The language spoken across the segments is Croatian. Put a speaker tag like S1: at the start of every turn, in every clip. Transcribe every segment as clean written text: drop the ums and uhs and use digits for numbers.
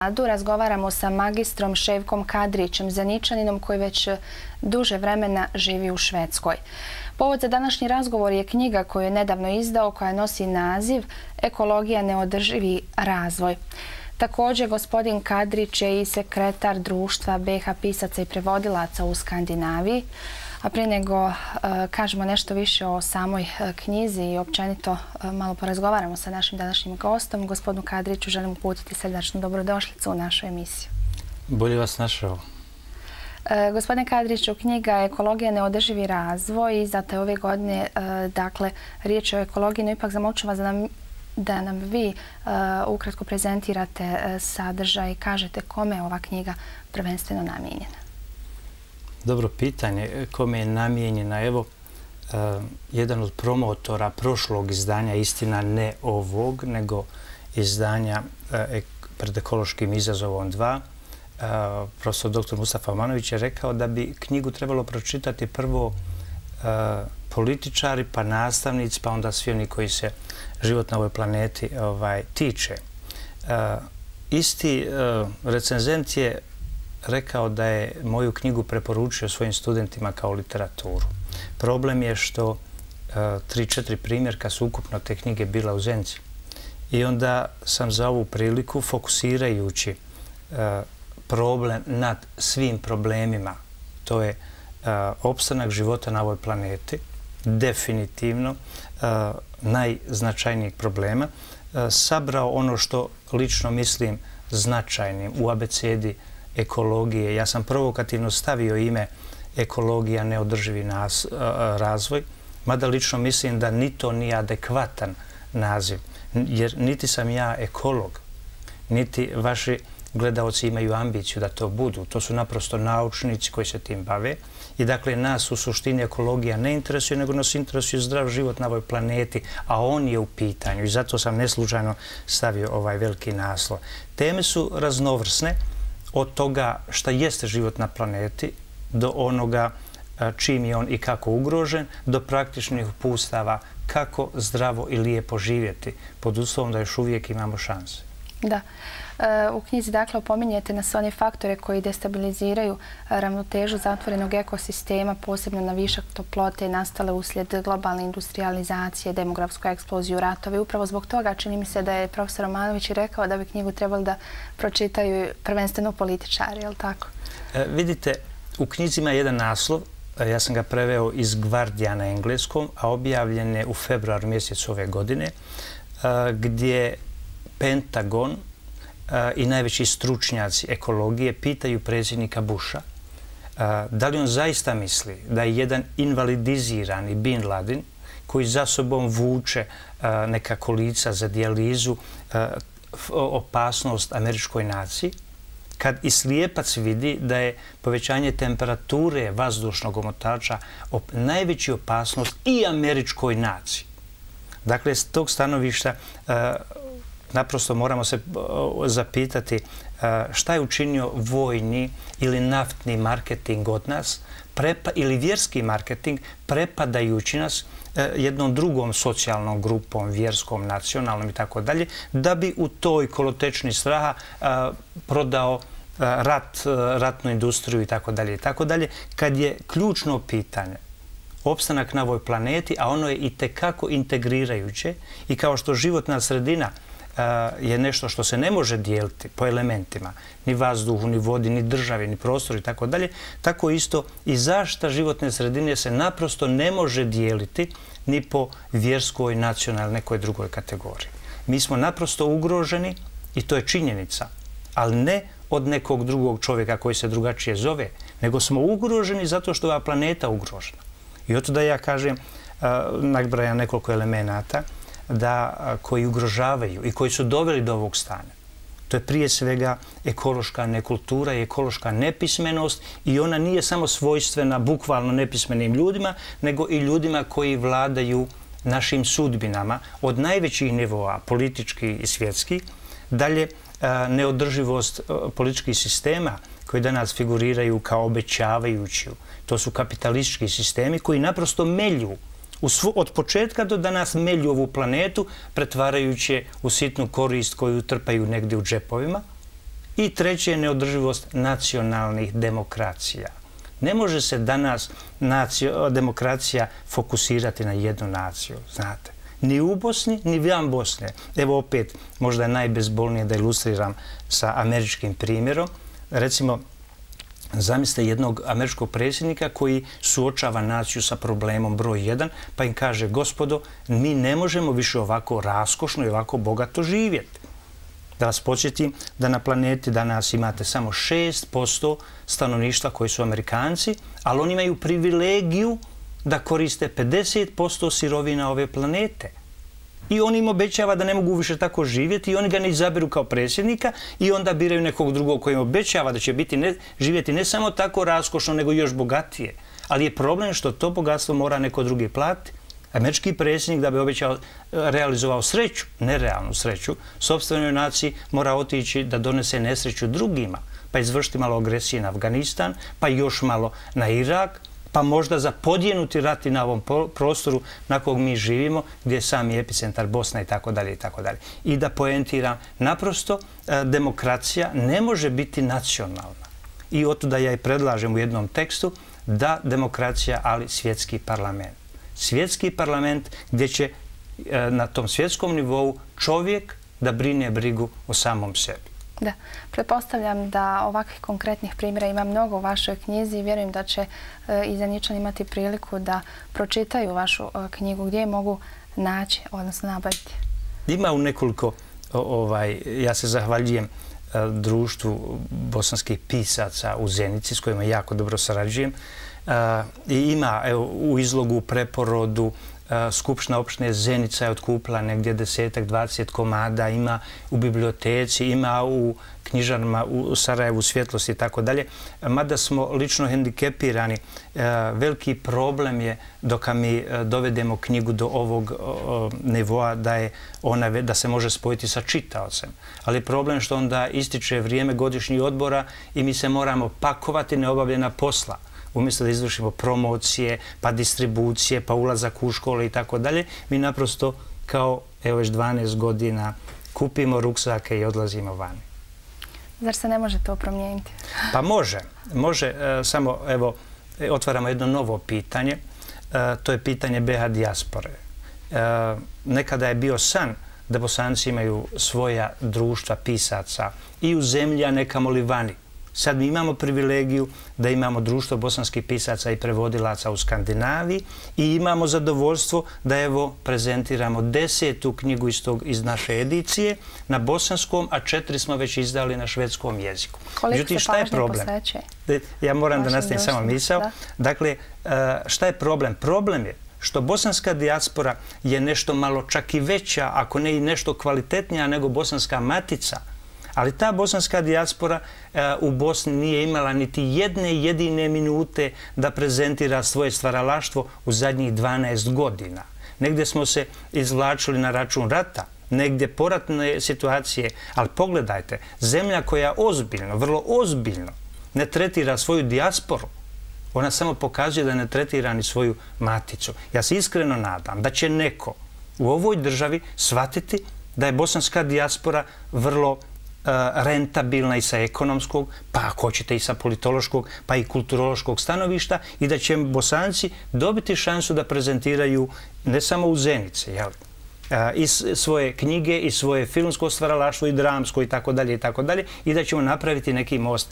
S1: Razgovaramo sa magistrom Ševkom Kadrićem, Zeničaninom koji već duže vremena živi u Švedskoj. Povod za današnji razgovor je knjiga koju je nedavno izdao, koja nosi naziv Ekologija neodrživi razvoj. Također, gospodin Kadrić je i sekretar društva BiH pisaca i prevodilaca u Skandinaviji. A prije nego kažemo nešto više o samoj knjizi i općenito malo porazgovaramo sa našim današnjim gostom, gospodinu Kadriću, želim uputiti srdačnu dobrodošlicu u našu emisiju.
S2: Bolje vas našao.
S1: Gospodine Kadriću, knjiga Ekologija neodrživi razvoj, izdata je ove godine, dakle, riječ je o ekologiji, no ipak zamolču vas da nam vi ukratko prezentirate sadržaj i kažete kome je ova knjiga prvenstveno namijenjena.
S2: Dobro pitanje. Kome je namijenjena? Evo, jedan od promotora prošlog izdanja, istina ne ovog, nego izdanja Pred ekološkim izazovom 2, profesor dr. Mustafa Omanović je rekao da bi knjigu trebalo pročitati prvo političari, pa nastavnici, pa onda svi oni koji se život na ovoj planeti tiče. Isti recenzent je rekao da je moju knjigu preporučio svojim studentima kao literaturu. Problem je što 3-4 primjerka su ukupno te knjige bila u Zenci. I onda sam za ovu priliku, fokusirajući problem nad svim problemima, to je opstanak života na ovoj planeti, definitivno najznačajnijeg problema, sabrao ono što lično mislim značajnim u abecedi ekologije. Ja sam provokativno stavio ime Ekologija neodrživi razvoj, mada lično mislim da ni to nije adekvatan naziv, jer niti sam ja ekolog, niti vaši gledaoci imaju ambiciju da to budu. To su naprosto naučnici koji se tim bave i dakle nas u suštini ekologija ne interesuje, nego nas interesuje zdrav život na ovoj planeti, a on je u pitanju i zato sam neslučajno stavio ovaj veliki naslov. Teme su raznovrsne, od toga šta jeste život na planeti, do onoga čim je on i kako ugrožen, do praktičnih uputstava kako zdravo i lijepo živjeti, pod uslovom da još uvijek imamo šanse.
S1: Da. U knjizi dakle opominjete na sve one faktore koji destabiliziraju ravnotežu zatvorenog ekosistema, posebno na višak toplote nastale uslijed globalne industrializacije, demografsku eksploziju, ratove. Upravo zbog toga čini mi se da je profesor Omanović rekao da bi knjigu trebali da pročitaju prvenstveno političari, je li tako?
S2: Vidite, u knjizi ima jedan naslov, ja sam ga preveo iz Guardiana na engleskom, a objavljen je u februaru mjesecu ove godine, gdje Pentagon i najveći stručnjaci ekologije pitaju predsjednika Busha da li on zaista misli da je jedan invalidizirani Bin Laden koji za sobom vuče neka kolica za dijalizu opasnost američkoj naciji, kad i slijepac vidi da je povećanje temperature vazdušnog omotača najveća opasnost i američkoj naciji. Dakle, s tog stanovišta naprosto moramo se zapitati šta je učinio vojni ili naftni marketing od nas ili vjerski marketing prepadajući nas jednom drugom socijalnom grupom, vjerskom, nacionalnom i tako dalje, da bi u toj kolotečni straha prodao ratnu industriju i tako dalje. I tako dalje, kad je ključno pitanje opstanak na ovoj planeti, a ono je i tekako integrirajuće i kao što životna sredina je nešto što se ne može dijeliti po elementima, ni vazduhu, ni vodi, ni državi, ni prostoru i tako dalje, tako isto i zaštita životne sredine se naprosto ne može dijeliti ni po vjerskoj, nacionalnoj, nekoj drugoj kategoriji. Mi smo naprosto ugroženi i to je činjenica, ali ne od nekog drugog čovjeka koji se drugačije zove, nego smo ugroženi zato što je ova planeta ugrožena. I oto da ja kažem, nabrajam nekoliko elemenata koji ugrožavaju i koji su doveli do ovog stanja. To je prije svega ekološka nekultura i ekološka nepismenost i ona nije samo svojstvena bukvalno nepismenim ljudima, nego i ljudima koji vladaju našim sudbinama od najvećih nivoa, političkih i svjetskih. Dalje, neodrživost političkih sistema koji danas figuriraju kao obećavajući. To su kapitalistički sistemi koji naprosto melju od početka do danas melju ovu planetu, pretvarajući je u sitnu korist koju trpaju negdje u džepovima. I treće je neodrživost nacionalnih demokracija. Ne može se danas demokracija fokusirati na jednu naciju, znate. Ni u Bosni, ni van Bosne. Evo opet, možda je najbezbolnije da ilustriram sa američkim primjerom. Recimo, zamislite jednog američkog predsjednika koji suočava naciju sa problemom broj 1, pa im kaže, gospodo, mi ne možemo više ovako raskošno i ovako bogato živjeti. Da vas podsjetim da na planeti danas imate samo 6% stanovništva koji su Amerikanci, ali oni imaju privilegiju da koriste 50% sirovina ove planete. I on im obećava da ne mogu više tako živjeti i oni ga ne izaberu kao predsjednika i onda biraju nekog drugog koji im obećava da će živjeti ne samo tako raskošno, nego još bogatije. Ali je problem što to bogatstvo mora neko drugi platiti. Američki predsjednik da bi realizovao sreću, nerealnu sreću, sopstvenoj naciji mora otići da donese nesreću drugima, pa izvršiti malo agresije na Afganistan, pa još malo na Irak, pa možda zapodjenuti rat i na ovom prostoru na kog mi živimo, gdje je sami epicentar Bosna i tako dalje i tako dalje. I da poentiram, naprosto demokracija ne može biti nacionalna. I otuda ja i predlažem u jednom tekstu da demokracija, ali svjetski parlament. Svjetski parlament gdje će na tom svjetskom nivou čovjek da brine brigu o samom sebi.
S1: Da, pretpostavljam da ovakvih konkretnih primjera ima mnogo u vašoj knjizi i vjerujem da će i Zeničani imati priliku da pročitaju vašu knjigu. Gdje je mogu naći, odnosno nabaviti? Ima
S2: u nekoliko, ja se zahvaljujem društvu bosanskih pisaca u Zenici s kojima jako dobro sarađujem. I ima u izlogu, preporodu, Skupština opštine Zenica je otkupila negdje 10-20 komada, ima u biblioteci, ima u knjižarama u Sarajevu, Svjetlosti i tako dalje. Mada smo lično hendikepirani, veliki problem je dok mi dovedemo knjigu do ovog nivoa da se može spojiti sa čitaocem. Ali problem što onda ističe vrijeme godišnjih odbora i mi se moramo pakovati neobavljena posla. Umjesto da izvršimo promocije, pa distribucije, pa ulazak u škole i tako dalje, mi naprosto kao, evo već 12 godina, kupimo ruksake i odlazimo vani.
S1: Zar se ne može to promijeniti?
S2: Pa može. Može, samo evo, otvaramo jedno novo pitanje. To je pitanje BiH dijaspore. Nekada je bio san da Bosanci imaju svoja društva pisaca i u zemlji, a ne kamoli vani. Sad mi imamo privilegiju da imamo društvo bosanskih pisaca i prevodilaca u Skandinaviji i imamo zadovoljstvo da evo prezentiramo 10. knjigu iz naše edicije na bosanskom, a 4 smo već izdali na švedskom jeziku.
S1: Koliko se pažnje posvećuje?
S2: Ja moram da nastavim samo misao. Dakle, šta je problem? Problem je što bosanska dijaspora je nešto malo čak i veća, ako ne i nešto kvalitetnija nego bosanska matica. Ali ta bosanska dijaspora u Bosni nije imala niti jedne jedine minute da prezentira svoje stvaralaštvo u zadnjih 12 godina. Negdje smo se izvlačili na račun rata, negdje poratne situacije, ali pogledajte, zemlja koja ozbiljno, vrlo ozbiljno ne tretira svoju dijasporu, ona samo pokazuje da ne tretira ni svoju maticu. Ja se iskreno nadam da će neko u ovoj državi shvatiti da je bosanska dijaspora vrlo rentabilna i sa ekonomskog, pa ako hoćete i sa politološkog, pa i kulturološkog stanovišta i da će Bosanci dobiti šansu da prezentiraju ne samo u Zenici, i svoje knjige, i svoje filmsko stvaralaštvo, i dramsko, i tako dalje, i da ćemo napraviti neki most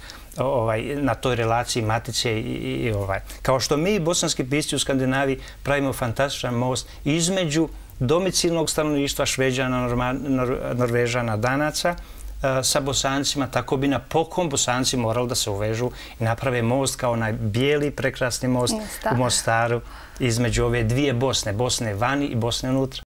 S2: na toj relaciji matice i Kao što mi, bosanski pisci u Skandinaviji, pravimo fantastičan most između domicilnog stanovništva Šveđana, Norvežana, Danaca, sa Bosancima, tako bi napokon Bosanci morali da se uvežu i naprave most kao onaj bijeli, prekrasni most u Mostaru između ove dvije Bosne, Bosne vani i Bosne unutra.